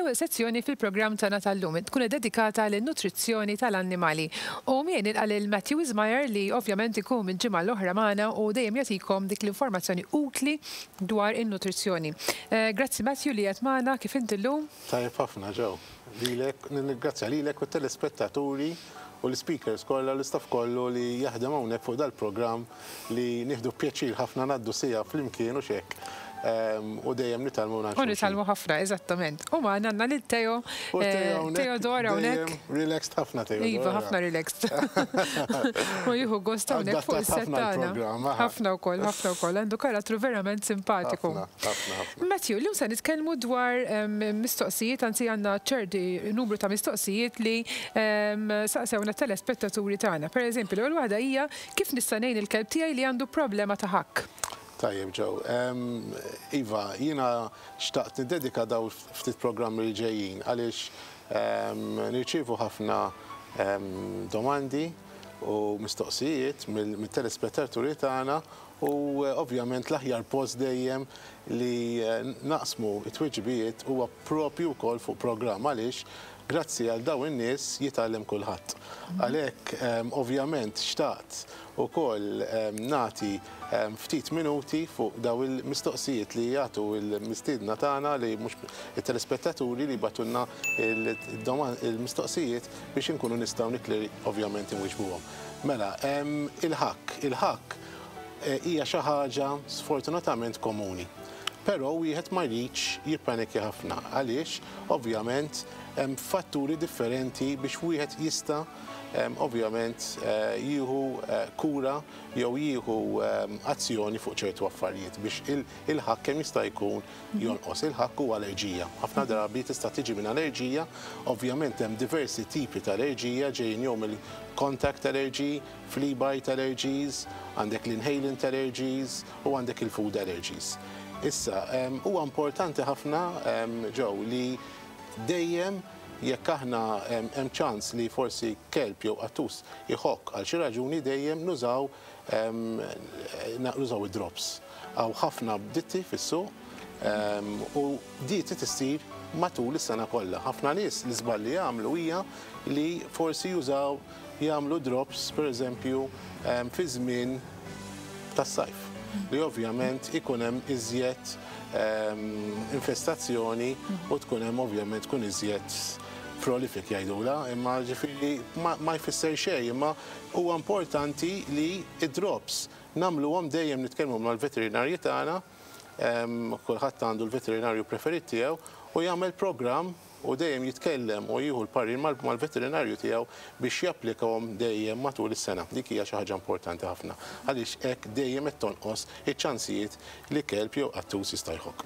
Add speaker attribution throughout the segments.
Speaker 1: L-ewwel sezzjoni fil-programm tagħna tal-lum tkun iddedikata lin-nutrizzjoni tal-annimali. U miegħi nilqa' lil Matthew Wismayer li ovvjament ikun mill-ġimgħa l-oħra magħna u dejjem jagħtikom dik l-informazzjoni utli dwar in-nutrizzjoni. Grazzi Matthew li qiegħed magħna, kif inti llum?
Speaker 2: Tajjeb ħafna Joe. Lilek, nirringrazzja lilek u t-telespettaturi u l-ispeakers kollha u l-istaff kollu li jaħdem hawnhekk fuq dal-programm li nieħdu pjaċir ħafna ngħaddu siegħa flimkien hux hekk u dejjem nitgħallmu mingħand
Speaker 1: xulxin. U nitgħallmu ħafna, eżattament. U magħna għandna lil Teo, Theodore hawnhekk.
Speaker 2: Dejjem relaxed ħafna Theodore.
Speaker 1: Iva, ħafna relaxed. U jieħu gost hawnhekk fuq is-set tagħna. Ħafna wkoll, ħafna wkoll. Għandu karattru verament simpatiku.
Speaker 2: Ħafna, ħafna.
Speaker 1: Matthew, illum se nitkellmu dwar mistoqsijiet, anzi għandna ċerti numru ta' mistoqsijiet li saqsewna t-telespettaturi tagħna. Per eżempju, l-ewwel waħda hija Kif nista' ngħin il-kelb tiegħi li għandu problema ta' ħakk?
Speaker 2: Tajjeb Joe. Iva, jiena xtaqt niddedika dawn ftit programmi li ġejjin għaliex nirċievu ħafna domandi u mistoqsijiet mit-telespettaturi tagħna u ovvjament l-aħjar post dejjem li naqsmu t-tweġibiet huwa propju wkoll fuq programm għaliex Grazzi għal dawn in-nies jitgħallem kulħadd. Għalhekk ovvjament xtaqt ukoll nagħti ftit minuti fuq dawn il-mistoqsijiet li jagħtu l-mistiedna tagħna li mhux it-telespettaturi li jibagħtulna l-mistoqsijiet biex inkunu nistgħu nikli ovvjament inwiġbuhom. Mela, il-ħakk. Il-ħakk hija xi ħaġa sfortunatament komuni. Però wieħed ma jridx jippanikja ħafna għaliex ovvjament hemm fatturi differenti biex wieħed jista' ovvjament jieħu kura jew jieħu azzjoni fuq ċertu affarijiet biex il-ħakk kemm jista' jkun jonqos. Il-ħakk huwa allerġija. Ħafna drabi tista' tiġi minn allerġija, ovvjament hemm diversi tipi ta' allerġija ġejjin jew mill-contact allergy, flea bite allergies, għandek l-inhalant allergies u għandek il-food allergies. Issa, huwa importanti ħafna, Joe, li dejjem jekk aħna hemm ċans li forsi kelb jew qattus iħokk għal xi raġuni dejjem nużaw nużaw id-drops. Hawn ħafna ditti fis-suq u di trid issir matul is-sena kollha. Ħafna nies l-iżball li jagħmlu hija li forsi jużaw jagħmlu drops pereżempju fi żmien tas-sajf li ovvjament ikun hemm iżjed infestazzjoni u tkun hemm ovvjament tkun iżjed prolific jgħidulha, imma ġifieri ma jfisser xejn, imma huwa importanti li d-drops nagħmluhom dejjem nitkellmu mal-veterinarji tagħna, kulħadd għandu l-veterinarju preferit tiegħu u jagħmel programm u dejjem jitkellem u jieħu l-parir mal-veterinarju tiegħu biex japplikahom dejjem matul is-sena. Dik hija xi ħaġa importanti ħafna għaliex hekk dejjem qed tonqos iċ-ċansijiet li kelb jew qattus jista' jħokk.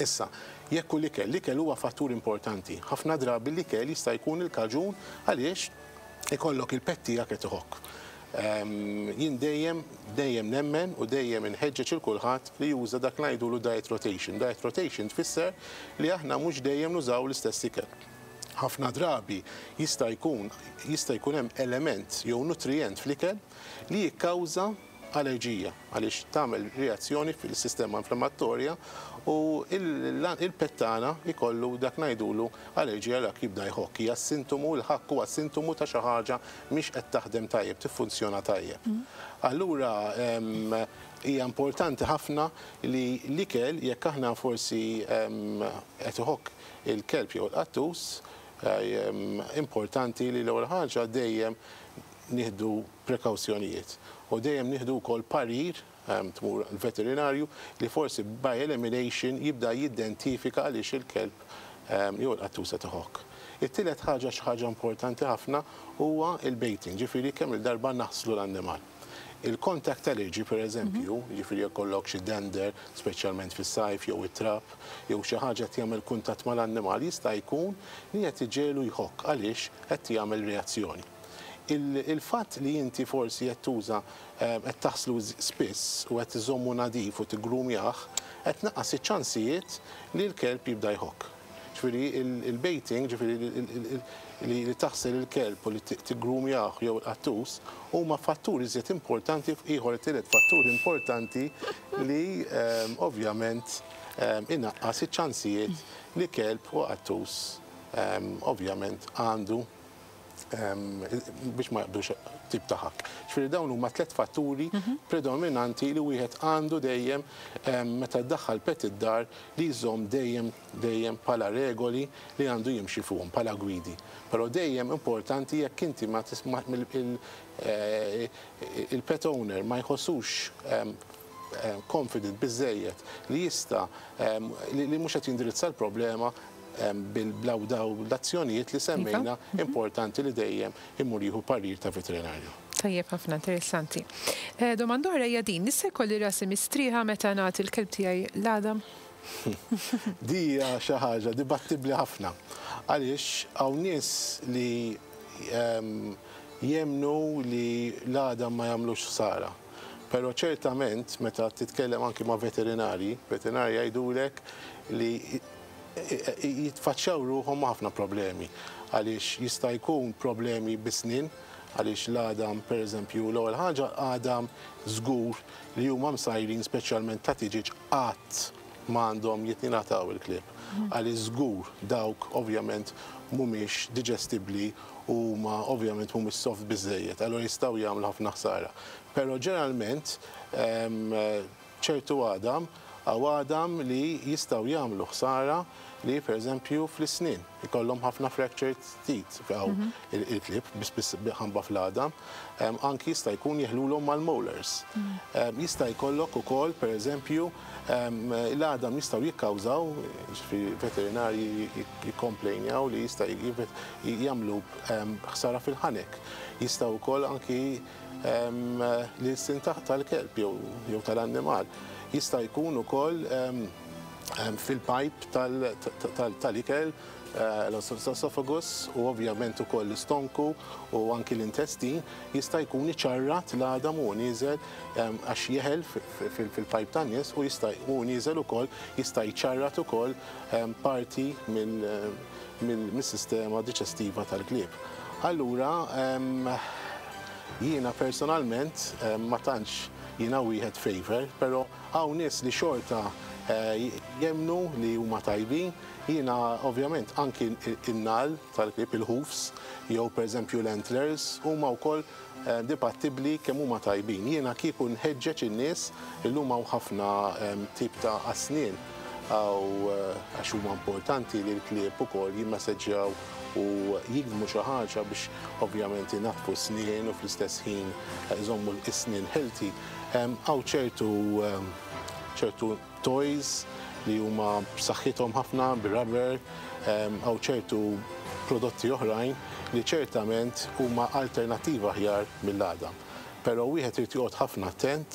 Speaker 2: Issa, jekk hu l-ikel, l-ikel huwa fattur importanti. Ħafna drabi l-ikel jista' jkun il-kaġun għaliex ikollok il-pet tiegħek qed iħokk. Jien dejjem, dejjem nemmen u dejjem inħeġġeġ 'il kulħadd li juża dak li ngħidulu diet rotation. Diet rotation tfisser li aħna mhux dejjem nużaw l-istess ikel. Ħafna drabi jista' jkun jista' jkun hemm element jew nutrijent fl-ikel li jikkawża allerġija għaliex tagħmel reazzjoni fil-sistema inflammatorja u il-pet tagħna jkollu dak ngħidulu allerġija dak jibda jħokk. Hija sintomu, il-ħakk huwa sintomu ta' xi ħaġa mhix qed taħdem tajjeb, tiffunzjona tajjeb. Allura hija importanti ħafna li l-ikel jekk aħna forsi qed iħokk il-kelb jew il-qattus, importanti li l-ewwel ħaġa dejjem nieħdu prekawzjonijiet u dejjem nieħdu wkoll parir tmur l-veterinarju li forsi by elimination jibda jiddentifika għaliex il-kelb jew il-qattus qed iħokk. It-tielet ħaġa xi ħaġa importanti ħafna huwa l-baiting, ġifieri kemm-il darba naħslu l-annimal. Il-contact allergy per eżempju, ġifieri jekk ikollok xi dander, speċjalment fis-sajf jew it-trab, jew xi ħaġa qed jagħmel kuntatt mal-annimal jista' jkun li qed iġegħlu jħokk għaliex qed jagħmel reazzjoni. Il-fatt li inti forsi qed tuża qed taħslu spiss u qed iżommu nadif u tiggrumjah qed tnaqqas iċ-ċansijiet li l-kelb jibda jħokk. Ġifieri il-baiting, ġifieri li taħsel il-kelb u li tiggrumjah jew il-qattus huma fatturi iżjed importanti ieħor it-tielet fattur importanti li ovvjament Inaqqas iċ-ċansijiet li kelb u qattus ovvjament għandu biex ma jaqbdux tip ta' ħakk. Ġifieri dawn huma tliet fatturi predominanti li wieħed għandu dejjem, meta ddaħħal pet id-dar, li jżomm dejjem dejjem bħala regoli li għandu jimxi fuqhom bħala gwidi. Però dejjem importanti, jekk inti ma tisma' il-pet owner ma jħossux confident biżejjed li jista' li mhux qed jindirizza l-problema bil-blaw daw l-azzjonijiet li semmejna, importanti li dejjem imur jieħu parir ta' veterinarju.
Speaker 1: Tajjeb ħafna, interessanti. Domanda oħra hija din: nista' jkolli rasi mistrieħa meta nagħti l-kelb tiegħi l-għadam?
Speaker 2: Di hija xi ħaġa dibattibbli ħafna. Għaliex hawn nies li jemnu li l-għadam ma jagħmlux ħsara. Però ċertament meta titkellem anki ma' veterinari, veterinari jgħidulek li jitfaċċjaw ruħhom ma' ħafna problemi. Għaliex jista' jkun problemi bis-snien, għaliex l-għadam, per eżempju, l-ewwel ħaġa, għadam żgur li huma msajrin speċjalment ta' tiġiġ qatt m'għandhom jingħataw il-klieb. Għaliex żgur dawk ovvjament mhumiex digestibbli u huma ovvjament mhumiex soft biżejjed, allura jistgħu jagħmlu ħafna ħsara. Però ġeneralment ċertu għadam, hawn għadam li jistgħu jagħmlu ħsara li per eżempju fl-isnien ikollhom ħafna fractured teeth hawn il-klieb biss ħamba fl-għadam, anki jista' jkun jeħlulhom mal-molars. Jista' jkollok ukoll, per eżempju, l-għadam jistgħu jikkawżaw, ġifieri veterinarji jikkomplejnjaw li jista' jagħmlu ħsara fil-ħanek. Jistgħu wkoll anki li s-sin tal-kelb jew tal-annimal. Jista' jkun ukoll fil-pipe tal-ikel, l-esophagus u ovvjament ukoll l-istonku u anki l-intestin jista' jkun iċarrat l-għadam u nieżel, għax jeħel fil-pipe tan-nies u jista' u nieżel ukoll jista' jċarrat ukoll parti mill-sistema diġestiva tal-klieb. Allura jiena personalment ma tantx jiena wieħed favor, però hawn nies li xorta jemnu li huma tajbin. Jiena ovvjament anki in-nagħal tal-klieb, il-hoofs, jew per eżempju l-antlers, huma wkoll dibattibbli kemm huma tajbin. Jiena kieku nħeġġeġ in-nies, illum hawn ħafna tip ta' asnien għaw, għax huma importanti li l-klieb ukoll jimmasseġġjaw u jigdmu xi ħaġa biex ovvjament inaddfu snien u fl-istess ħin iżommu l-isnien healthy. Hawn ċertu toys li huma b'saħħithom ħafna bir-rubber, hawn ċertu prodotti oħrajn li ċertament huma alternattiva aħjar mill-għadam. Però wieħed irid joqgħod ħafna attent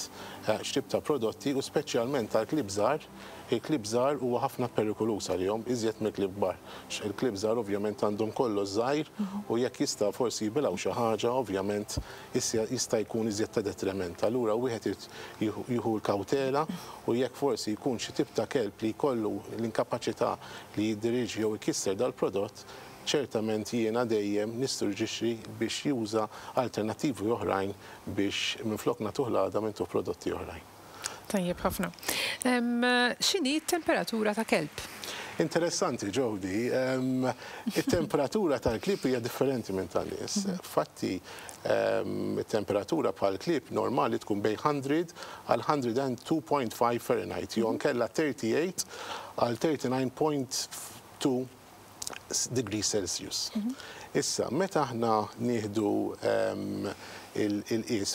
Speaker 2: x'tip ta' prodotti u speċjalment tal-klieb żgħar. Il-klieb żgħar huwa ħafna perikoluż għalihom iżjed mill-klieb kbar. Il-klieb żgħar ovvjament għandhom kollox żgħir u jekk jista' forsi jibilgħu xi ħaġa, ovvjament jista' jkun iżjed ta' detriment. Allura wieħed irid jieħu l-kawtela u jekk forsi jkun xi tip ta' kelb li jkollu l-inkapaċità li jiddiriġi jew ikisser dal-prodott, ċertament jiena dejjem nissuġġerixxi biex juża alternattivi oħrajn biex minflok nagħtuh l-għadam intuh prodotti oħrajn.
Speaker 1: Tajjeb ħafna. X'inhi t-temperatura ta' kelb?
Speaker 2: Interessanti, Jody. Il-temperatura tal-klieb hija differenti minn tan-nies. Fatti, il-temperatura bħal klieb normali tkun bejn 100 għal 102.5 Fahrenheit, jew nkella 38 għal 39.2 degrees Celsius. Issa, meta aħna nieħdu il-qis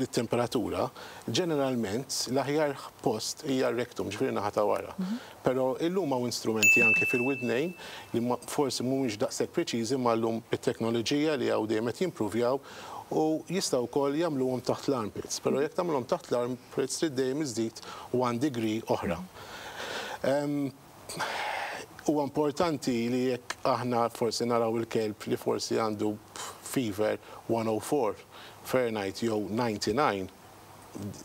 Speaker 2: il-temperatura, ġeneralment l-aħjar post hija r-rectum, ġifieri naħa ta' wara. Però illum hawn instrumenti anke fil-widnejn li forsi mhumiex daqshekk preċiżi, ma llum bit-teknoloġija li hawn dejjem qed jimpruvjaw u jistgħu wkoll jagħmluhom taħt l-armpits. Però jekk tagħmluhom taħt l-armpits trid dejjem iżdid 1 degree oħra. Huwa importanti li jekk aħna forsi naraw il-kelb li forsi għandu fever 104 Fahrenheit jew 99,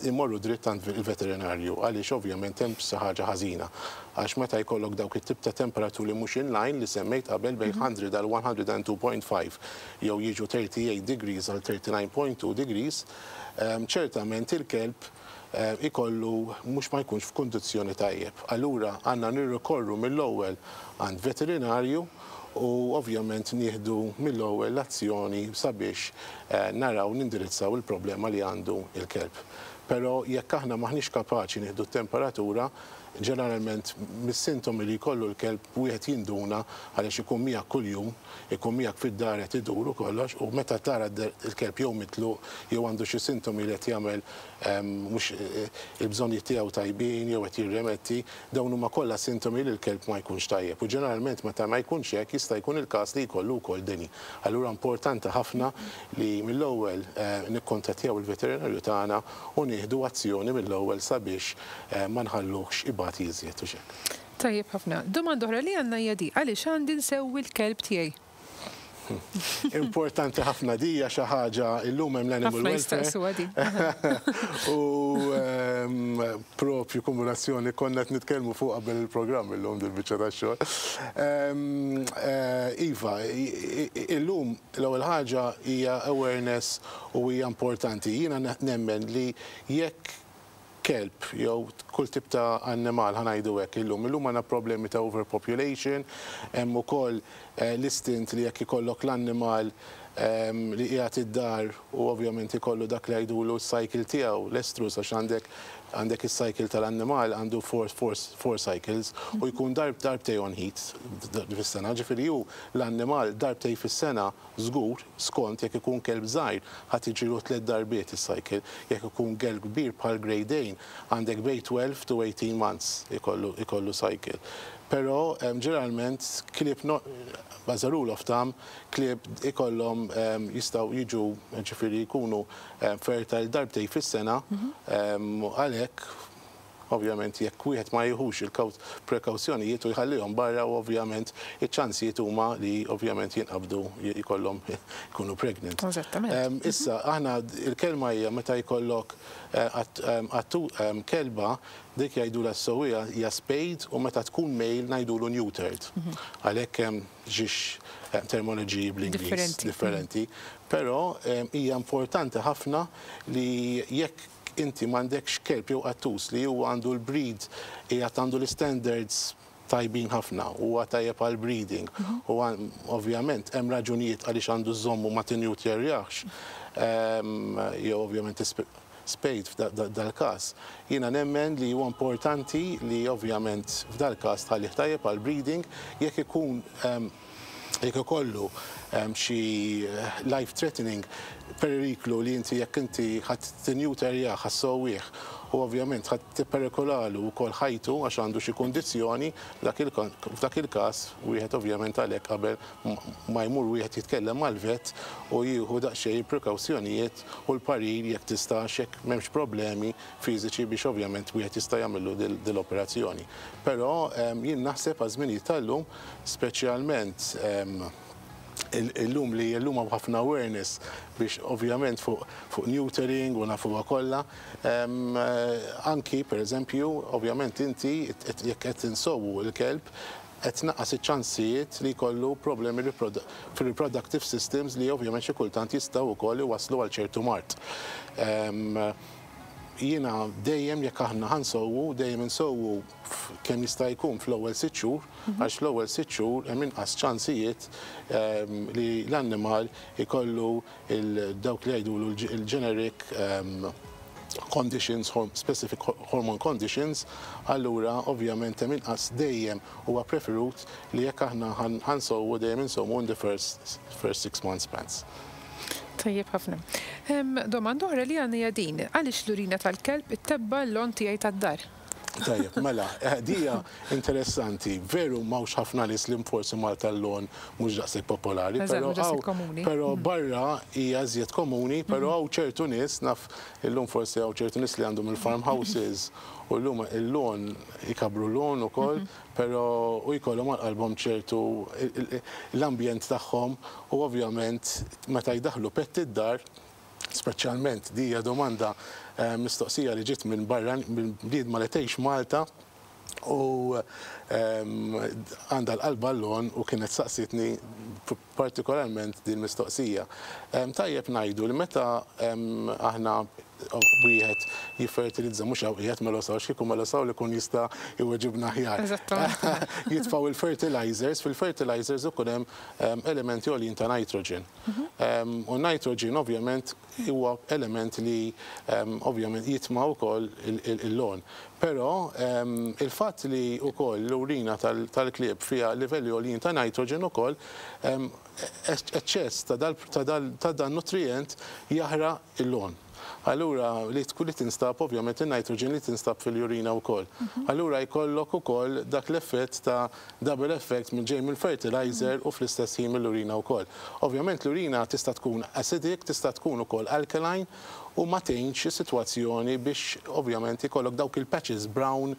Speaker 2: imorru dritt għand il-veterinarju, għaliex ovvjament hemm xi ħaġa ħażina. Għax meta jkollok dawk it-tip ta' temperaturi mhux in line li semmejt qabel, bejn 100 għal 102.5 jew jiġu 38 degrees għal 39.2 degrees, ċertament il-kelb Ikollu mhux ma jkunx f'kundizzjoni tajjeb. Allura għandna nirrikorru mill-ewwel għand veterinarju u ovvjament nieħdu mill-ewwel l-azzjoni sabiex naraw nindirizzaw il-problema li għandu l-kelb. Però jekk aħna m'aħniex kapaċi nieħdu t-temperatura, ġeneralment mis-sintomi li jkollu l-kelb wieħed jinduna għaliex ikun miegħek kuljum, ikun miegħek fid-dar qed idur u kollox u meta tara l-kelb jew mitluq jew għandu xi sintomi li qed jagħmel mhux il-bżonnijiet tiegħu tajbin jew qed jirremetti, dawn huma kollha sintomi li l-kelb ma jkunx tajjeb. U ġeneralment meta ma jkunx hekk jista' jkun il-każ li jkollu wkoll deni. Allura importanti ħafna li mill-ewwel nikkuntattjaw il-veterinarju tagħna u nieħdu azzjoni mill-ewwel sabiex ma nħalluhx ibati iżjed u x'hekk.
Speaker 1: Tajjeb ħafna. Domanda oħra li għandna hija di, għaliex għandi nsewwi l-kelb tiegħi?
Speaker 2: Importanti ħafna di hija xi ħaġa illum hemm l-animal welfare.
Speaker 1: Ħafna di.
Speaker 2: U propju kombinazzjoni konna qed nitkellmu fuq qabel il-programm illum dil-biċċa tax-xogħol. Iva, illum l-ewwel ħaġa hija awareness u hija importanti. Jiena nemmen li jekk kelb jew kull tip ta' annimal, ħa ngħidu hekk illum. Illum għandna problemi ta' overpopulation, hemm ukoll l-istint li jekk ikollok l-annimal li qiegħed id-dar u ovvjament ikollu dak li jgħidulu s-cycle tiegħu, l-estrus, għax għandek is-cycle tal-annimal għandu four cycles u jkun darbtej on heat fis-sena, ġifieri hu l-annimal darbtej fis-sena żgur, skont jekk ikun kelb żgħir ħa tiġilu tliet darbiet is-cycle, jekk ikun kelb kbir bħal Great Dane għandek bejn 12 to 18 months ikollu cycle. Però ġeneralment klieb, as a rule of thumb, klieb ikollhom jistgħu jiġu, ġifieri jkunu fertile darbtej fis-sena, għalhekk ovvjament jekk wieħed ma jieħux il-prekawzjonijiet u jħallihom barra u ovvjament iċ-ċansijiet huma li ovvjament jinqabdu jkollhom jkunu pregnant. Issa aħna il-kelma hija meta jkollok kelba dik jgħidulha s-sewwija hija spayed u meta tkun male ngħidulu neutered. Għalhekk hemm żewġ terminoloġiji bl-Ingliż differenti. Però hija importanti ħafna li jekk inti m'għandekx kelb jew qattus li huwa għandu l-breed qiegħed għandu l-standards tajbin ħafna, huwa tajjeb għal breeding u ovvjament hemm raġunijiet għaliex għandu żommu ma tinnewterjahx jew ovvjament spayed f'dal-każ. Jiena nemmen li huwa importanti li ovvjament f'dal-każ tħallih tajjeb għal breeding jekk ikollu xi life threatening periklu li inti jekk inti ħa tinnewterjah, ħa ssewwih u ovvjament ħa tipperikolalu wkoll ħajtu għax għandu xi kundizzjoni, f'dak il-każ wieħed ovvjament għalhekk qabel ma jmur wieħed jitkellem mal-vet u jieħu daqsxejn il-prekawzjonijiet u l-parir jekk tistax, jekk m'hemmx problemi fiżiċi biex ovvjament wieħed jista' jagħmillu dil-operazzjoni. Però jien naħseb għaż-żminijiet tal-lum, speċjalment illum li illum hawn ħafna awareness biex ovvjament fuq neutering u nafuha kollha. Anki per eżempju, ovvjament inti jekk qed insewwu l-kelb qed tnaqqas iċ-ċansijiet li jkollu problemi fil-reproductive systems li ovvjament xi kultant jistgħu wkoll iwasslu għal ċertu mard. Jiena dejjem jekk aħna ħa nsewwu, dejjem insewwu kemm jista' jkun fl-ewwel 6 xhur, għax fl-ewwel 6 xhur hemm inqas ċansijiet li l-annimal ikollu dawk li jgħidulu il-generic conditions, specific hormone conditions, allura ovvjament hemm inqas dejjem huwa preferut li jekk aħna ħa nsewwu dejjem insewwu in the first 6 months spans.
Speaker 1: Tajjeb ħafna. Domanda oħra li għandna hija din, għaliex l-urina tal-kelb ittebba' l-lawn tiegħi tad-dar?
Speaker 2: Tajjeb, mela, dija interessanti. Veru m'hawnx ħafna nies li forsi Malta l-lawn mhux daqshekk popolari, però
Speaker 1: mhux daqshekk komuni.
Speaker 2: Però barra hija iżjed komuni, però hawn ċertu nies, naf illum forsi hawn ċertu nies li għandhom il-farmhouses u llum il-lawn ikabru l-lawn ukoll, però u jkollhom għal qalbhom ċertu l-ambjent tagħhom u ovvjament meta jdaħlu pet id-dar, speċjalment di hija domanda mistoqsija li ġiet minn barra, minn bniedma li tgħix Malta u għandha l-qalba l-lawn u kienet saqsitni partikolarment din mistoqsija. Tajjeb ngħidu li meta aħna wieħed jiffertilizza mhux hawn qiegħed Melosaw għax kieku Melosaw li jkun jista' jweġibna aħjar. Jitfgħu il-fertilizers, fil-fertilizers ikun hemm elementi għoljin ta' nitrogen. U nitrogen ovvjament huwa element li ovvjament jitma' wkoll il-lawn. Però il-fatt li wkoll l-urina tal-klieb fiha livelli għoljin ta' nitrogen ukoll, eċċess ta' dan nutrient jaħraq il-lawn. Allura li tkun li tinstab ovvjament in-nitrogen li tinstab fil-urina wkoll. Allura jkollok ukoll dak l-effett ta' double effect minn ġej mill-fertilizer u fl-istess ħin mill-urina wkoll. Ovvjament l-urina tista' tkun acidic, tista' tkun ukoll alkaline u ma tgħinx is-sitwazzjoni biex ovvjament ikollok dawk il-patches brown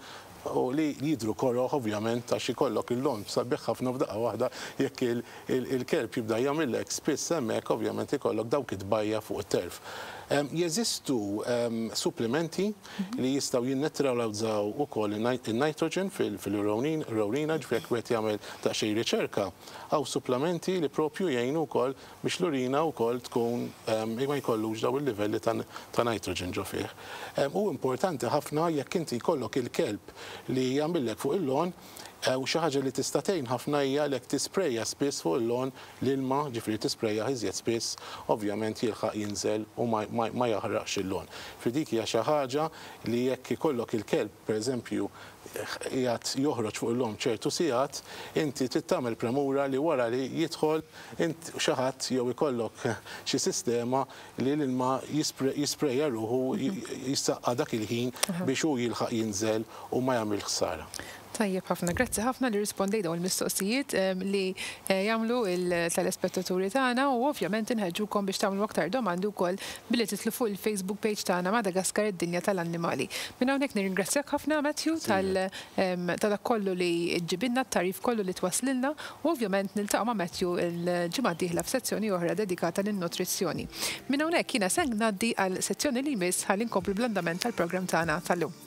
Speaker 2: u li jidhru koroh ovvjament għax ikollok il-lawn sabiħ ħafna f'daqqa waħda jekk il-kelb jibda jagħmillek spiss hemmhekk ovvjament ikollok dawk it-tbajja fuq it-turf. Jeżistu supplementi li jistgħu jinneutralizzaw ukoll in-nitrogen fil-urina, ġifieri jekk wieħed jagħmel daqsxejn riċerka, hawn supplementi li propju jgħinu wkoll biex l-urina wkoll tkun ma jkollux daw il-livelli ta' nitrogen ġo fih. U importanti ħafna jekk inti jkollok il-kelb li jagħmillek fuq il-lawn, u xi ħaġa li tista' tgħin ħafna hija lek tisprejja spiss fuq il-lawn l-ilma, ġifieri tisprejja iżjed spiss, ovvjament jilħaq jinżel u ma jaħraqx il-lawn. Fi dik hija xi ħaġa li jekk ikollok il-kelb, pereżempju, qiegħed joħroġ fuq il-lawn ċertu sigħat, inti trid tagħmel premura li wara li jidħol int xi ħadd jew ikollok xi sistema li l-ilma jisprejja ruħu jissaqqa dak il-ħin biex hu jilħaq jinżel u ma jagħmel ħsara.
Speaker 1: Tajjeb ħafna, grazzi ħafna li rispondejt dawn il-mistoqsijiet li jagħmlu il-telespettaturi tagħna u ovvjament inħeġġukom biex tagħmlu aktar domandi wkoll billi titlu fuq il-Facebook page tagħna Madagaskar id-dinja tal-annimali. Minn hawnhekk nirringrazzjak ħafna, Matthew, ta' dak kollu li ġġibilna, t-tagħrif kollu li twaslilna, u ovvjament niltaqgħu ma' Matthew il-ġimgħa d-dieħla f'sezzjoni oħra dedikata lin-nutrizzjoni. Minn hawnhekk jiena se ngħaddi għal sezzjoni li jmiss ħalli nkomplu bl-andament tal-programm tagħna tal-lum.